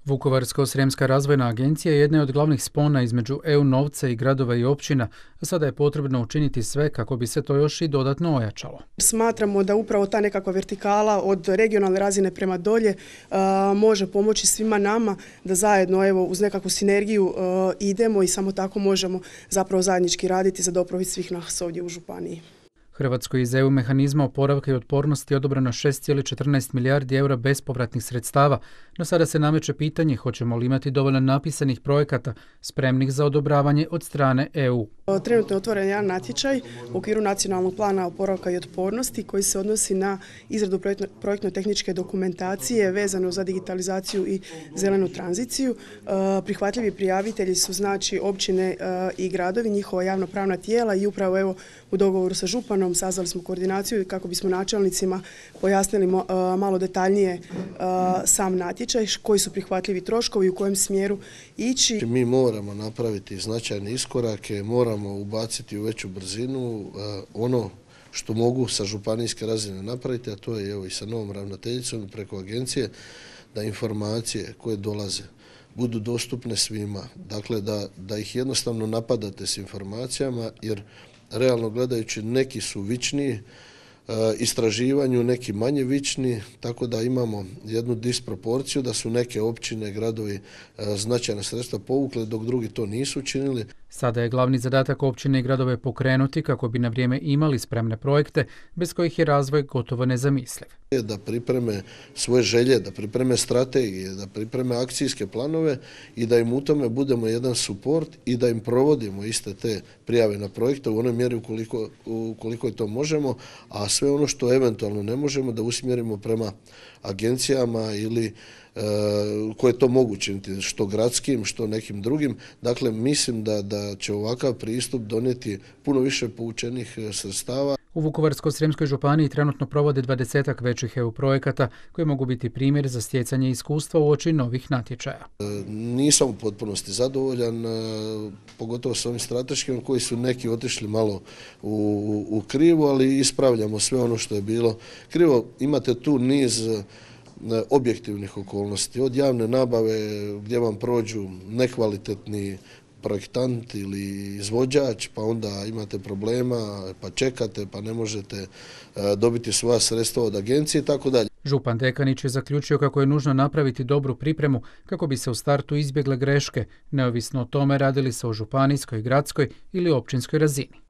Vukovarsko-srijemska razvojna agencija jedna je od glavnih spona između EU novca i gradova i općina, a sada je potrebno učiniti sve kako bi se to još i dodatno ojačalo. Smatramo da upravo ta nekakva vertikala od regionalne razine prema dolje može pomoći svima nama da zajedno uz nekakvu sinergiju idemo i samo tako možemo zapravo zajednički raditi za dobrobit svih nas ovdje u županiji. Hrvatskoj iz EU mehanizma oporavka i otpornosti odobreno 6,14 milijardi eura bespovratnih sredstava, no sada se nameće pitanje hoćemo li imati dovoljno napisanih projekata spremnih za odobravanje od strane EU. Trenutno je otvoren jedan natječaj u okviru nacionalnog plana oporavka i otpornosti koji se odnosi na izradu projektno-tehničke dokumentacije vezano za digitalizaciju i zelenu tranziciju. Prihvatljivi prijavitelji su znači općine i gradovi, njihova javnopravna tijela i upravo u dogovoru sa županom sazvali smo koordinaciju kako bismo načelnicima pojasnili malo detaljnije sam natječaj, koji su prihvatljivi troškovi i u kojem smjeru ići. Mi moramo napraviti značajne iskorake, moramo ubaciti u veću brzinu ono što mogu sa županijske razine napraviti, a to je i sa novom ravnateljicom preko agencije, da informacije koje dolaze budu dostupne svima. Dakle, da ih jednostavno napadate s informacijama, jer realno gledajući neki su vičniji istraživanju, neki manje vični, tako da imamo jednu disproporciju da su neke općine, gradovi značajna sredstva povukle, dok drugi to nisu učinili. Sada je glavni zadatak općine i gradove pokrenuti kako bi na vrijeme imali spremne projekte bez kojih je razvoj gotovo nezamisliv. Da pripreme svoje želje, da pripreme strategije, da pripreme akcijske planove i da im u tome budemo jedan suport i da im provodimo iste te prijave na projekte u onoj mjeri ukoliko je to možemo, a sve ono što eventualno ne možemo da usmjerimo prema agencijama ili koje to mogu činiti, što gradskim, što nekim drugim. Dakle, mislim da će ovakav pristup donijeti puno više poučenih sredstava. U Vukovarsko-srijemskoj županiji trenutno provode 20 većih EU projekata koji mogu biti primjer za stjecanje iskustva uoči novih natječaja. Nisam u potpunosti zadovoljan, pogotovo s ovim strateškim koji su neki otišli malo u krivo, ali ispravljamo sve ono što je bilo krivo. Imate tu niz objektivnih okolnosti, od javne nabave gdje vam prođu nekvalitetni projektant ili izvođač, pa onda imate problema, pa čekate, pa ne možete dobiti svoja sredstva od agencije i tako dalje. Župan Dekanić je zaključio kako je nužno napraviti dobru pripremu kako bi se u startu izbjegle greške, neovisno o tome radili se o županijskoj, gradskoj ili općinskoj razini.